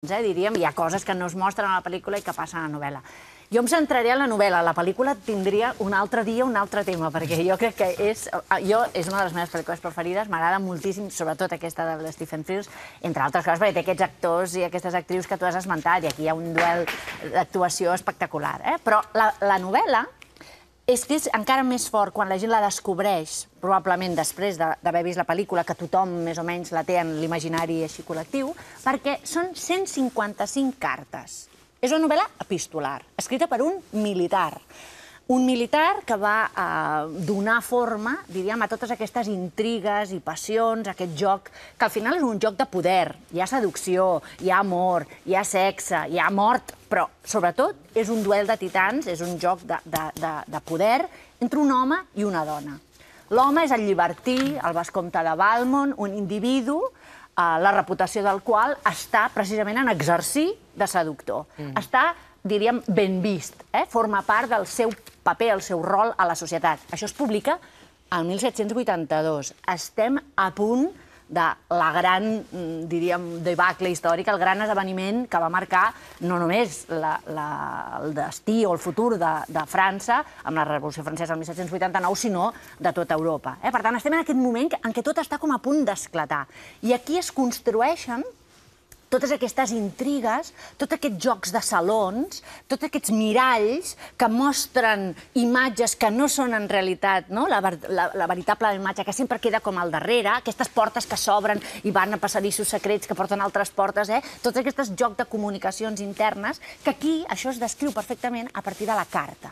diríem, hi ha coses que no es mostren a la pel·lícula i que passen a la novel·la. Jo em centraré en la novel·la. La pel·lícula tindria un altre dia un altre tema, perquè jo crec que és una de les meves pel·lícules preferides, m'agrada moltíssim, sobretot aquesta de Stephen Frears, entre altres coses, perquè té aquests actors i aquestes actrius que tu has esmentat, i aquí hi ha un duel d'actuació espectacular. Però la novel·la és que és encara més fort quan la gent la descobreix, probablement després d'haver vist la pel·lícula, que tothom més o menys la té en l'imaginari així col·lectiu, perquè són 155 cartes. És una novel·la epistolar, escrita per un militar. Un militar que va donar forma, diríem, a totes aquestes intrigues i passions, aquest joc, que al final és un joc de poder. Hi ha seducció, hi ha amor, hi ha sexe, hi ha mort, però sobretot és un duel de titans, és un joc de poder entre un home i una dona. L'home és el llibertí, el vescomte de Valmont, un individu, la reputació del qual està precisament en exercir de seductor. Està, diríem, ben vist, forma part del seu paper, el seu rol a la societat. Això es publica el 1782. Estem a punt de la gran, diríem, debacle històrica, el gran esdeveniment que va marcar no només el destí o el futur de França, amb la Revolució Francesa del 1789, sinó de tota Europa. Per tant, estem en aquest moment en què tot està com a punt d'esclatar. I aquí es construeixen totes aquestes intrigues, tots aquests jocs de salons, tots aquests miralls que mostren imatges que no són en realitat la veritable imatge, que sempre queda com al darrere, aquestes portes que s'obren i van a passadissos secrets que porten altres portes, tots aquests jocs de comunicacions internes, que aquí això es descriu perfectament a partir de la carta.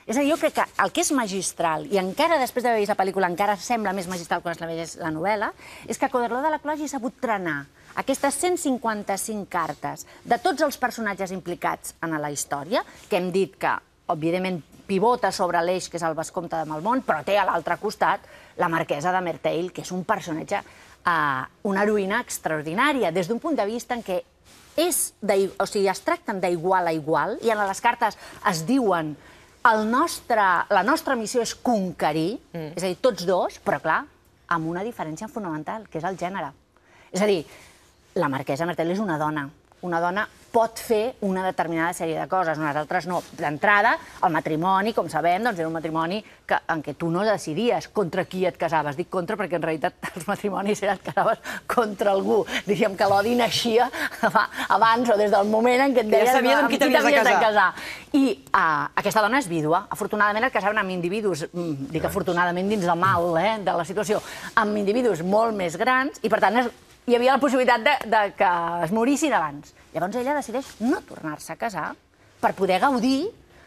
És a dir, jo crec que el que és magistral, i encara després d'haver vist la pel·lícula encara sembla més magistral quan es llegeix la novel·la, és que Coderlot de la Clos hagi sabut trenar aquestes 155 cartes de tots els personatges implicats en la història, que hem dit que, òbviament, pivota sobre l'eix, que és el vescomte de Valmont, però té a l'altre costat la marquesa de Merteuil, que és un personatge, una heroïna extraordinària, des d'un punt de vista en què es tracten d'igual a igual, i en les cartes es diuen la nostra missió és conquerir, és a dir, tots dos, però clar, amb una diferència fonamental, que és el gènere. És a dir, la marquesa Merteuil és una dona. Una dona pot fer una determinada sèrie de coses, unes altres no. D'entrada, el matrimoni, com sabem, era un matrimoni en què tu no decidies contra qui et casaves. Dic contra perquè en realitat els matrimonis et casaves contra algú. Diríem que l'odi naixia abans o des del moment en què et deies amb qui t'havies de casar. I aquesta dona és vídua. Afortunadament et casaven amb individus, dic afortunadament dins del mal de la situació, amb individus molt més grans i per tant hi havia la possibilitat que es morissin abans. Llavors ella decideix no tornar-se a casar per poder gaudir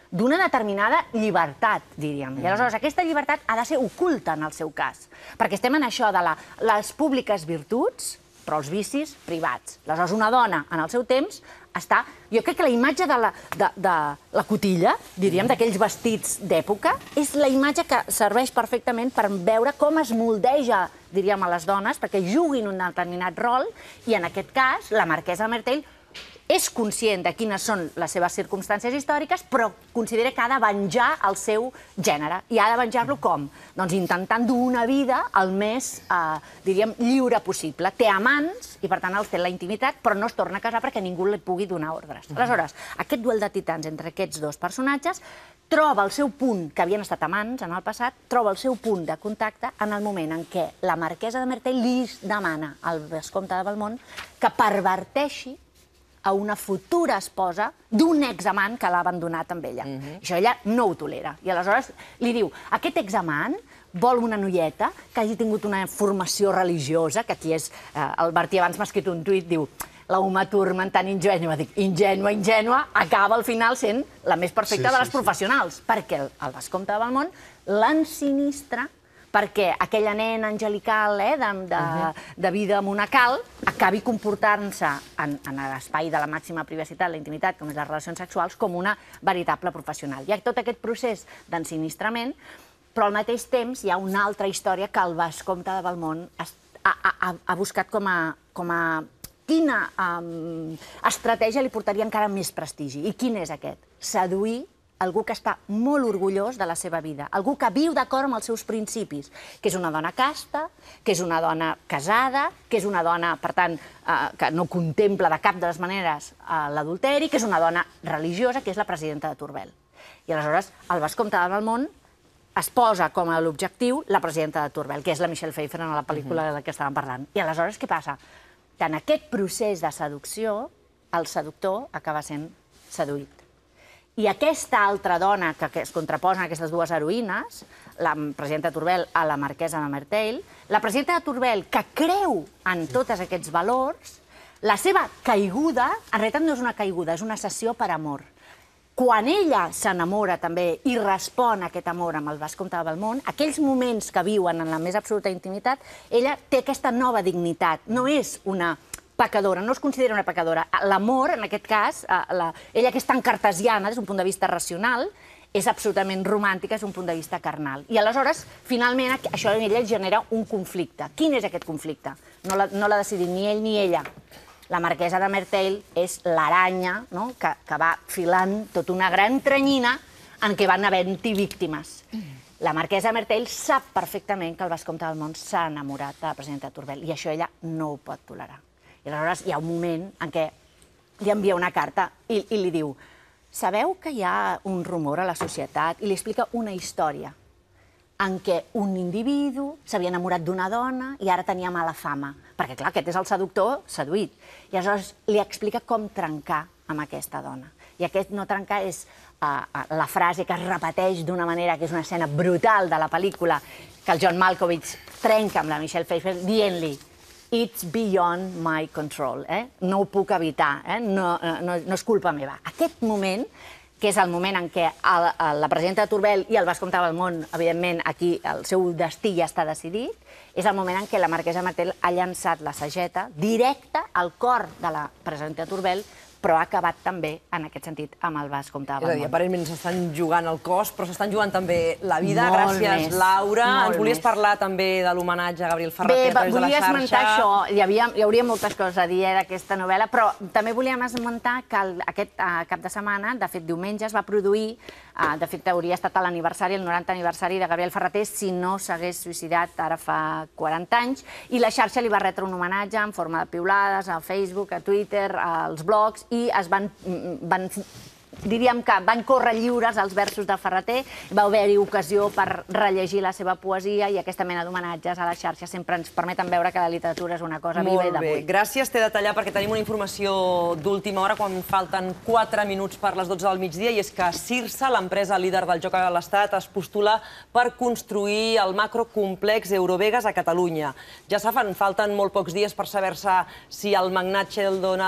d'una determinada llibertat, diríem. I aleshores aquesta llibertat ha de ser oculta en el seu cas, perquè estem en això de les públiques virtuts, però els vicis privats. Aleshores una dona en el seu temps està... Jo crec que la imatge de la cotilla, diríem, d'aquells vestits d'època, és la imatge que serveix perfectament per veure com es moldeja, diríem, a les dones, perquè juguin un determinat rol, i en aquest cas, la marquesa Merteuil és conscient de quines són les seves circumstàncies històriques, però considera que ha de venjar el seu gènere. I ha de venjar-lo com? Doncs intentant dur una vida el més, diríem, lliure possible. Té amants, i per tant els té en la intimitat, però no es torna a casar perquè ningú li pugui donar ordres. Aleshores, aquest duel de titans entre aquests dos personatges troba el seu punt, que havien estat amants en el passat, troba el seu punt de contacte en el moment en què la marquesa de Merteuil li demana al vescomte de Valmont que perverteixi a una futura esposa d'un examant que l'ha abandonat amb ella. Això ella no ho tolera. I aleshores li diu, aquest examant vol una noieta que hagi tingut una formació religiosa, que aquí és... El Martí abans m'ha escrit un tuit, diu, la Uma Thurman tan ingènua. Dic, ingènua, acaba al final sent la més perfecta de les professionals, perquè el vescomte de Valmont l'ensinistra perquè aquella nena angelical de vida monacal acabi comportant-se en l'espai de la màxima privacitat, la intimitat, com és les relacions sexuals, com una veritable professional. Hi ha tot aquest procés d'ensinistrament, però al mateix temps hi ha una altra història que el vescomte de Valmont ha buscat com a quina estratègia li portaria encara més prestigi. I quin és aquest? Seduir algú que està molt orgullós de la seva vida, algú que viu d'acord amb els seus principis, que és una dona casta, que és una dona casada, que és una dona, per tant, que no contempla de cap de les maneres l'adulteri, que és una dona religiosa, que és la presidenta de Turbel. I aleshores el vescomte de Valmont es posa com a l'objectiu la presidenta de Turbel, que és la Michelle Pfeiffer en la pel·lícula de la que estàvem parlant. I aleshores què passa? Que en aquest procés de seducció, el seductor acaba sent seduït. I aquesta altra dona que es contraposen aquestes dues heroïnes, la presidenta de Turbel a la marquesa de Merteuil, la presidenta de Turbel, que creu en tots aquests valors, la seva caiguda, en realitat no és una caiguda, és una cessió per amor. Quan ella s'enamora també i respon a aquest amor amb el vescomte de Valmont, aquells moments que viuen en la més absoluta intimitat, ella té aquesta nova dignitat. No és una pecadora, no es considera una pecadora. L'amor, en aquest cas, ella que és tan cartesiana des d'un punt de vista racional, és absolutament romàntica des d'un punt de vista carnal. I aleshores, finalment, això en ella genera un conflicte. Quin és aquest conflicte? No l'ha decidit ni ell ni ella. La marquesa de Merteuil és l'aranya que va filant tota una gran tranyina en què van havent-hi víctimes. La marquesa de Merteuil sap perfectament que el vescomte de Valmont s'ha enamorat de la presidenta de Turbel i això ella no ho pot tolerar. I aleshores hi ha un moment en què li envia una carta i li diu: sabeu que hi ha un rumor a la societat, i li explica una història en què un individu s'havia enamorat d'una dona i ara tenia mala fama, perquè clar, aquest és el seductor seduït. I aleshores li explica com trencar amb aquesta dona. I aquest no trencar és la frase que es repeteix d'una manera que és una escena brutal de la pel·lícula, que el John Malkovich trenca amb la Michelle Pfeiffer dient-li: it's beyond my control. No ho puc evitar, no és culpa meva. Aquest moment, que és el moment en què la presidenta de Turbel i el vescomte de Valmont, evidentment, aquí el seu destí ja està decidit, és el moment en què la marquesa de Merteuil ha llançat la sageta directe al cor de la presidenta de Turbel, però ha acabat també, en aquest sentit, amb el vescomte de Valmont. És a dir, aparentment s'estan jugant el cos, però s'estan jugant també la vida. Gràcies, Laura. Ens volies parlar també de l'homenatge a Gabriel Ferrater a través de la xarxa. Bé, volia esmentar això. Hi hauria moltes coses a dir d'aquesta novel·la, però també volíem esmentar que aquest cap de setmana, de fet diumenge, es va produir, de fet hauria estat l'aniversari, el 90 aniversari de Gabriel Ferrater, si no s'hagués suïcidat ara fa 40 anys, i la xarxa li va retre un homenatge en forma de piulades a Facebook, a Twitter, als blogs, i diríem que van córrer lliures els versos de Ferrater, va haver-hi ocasió per rellegir la seva poesia i aquesta mena d'homenatges a la xarxa sempre ens permeten veure que la literatura és una cosa viva i d'avui. Molt bé, gràcies. T'he de tallar perquè tenim una informació d'última hora quan falten 4 minuts per les 12 del migdia, i és que Cirsa, l'empresa líder del joc a l'Estat, es postula per construir el macrocomplex Eurovegas a Catalunya. Ja saben, falten molt pocs dies per saber-se si el magnat Sheldon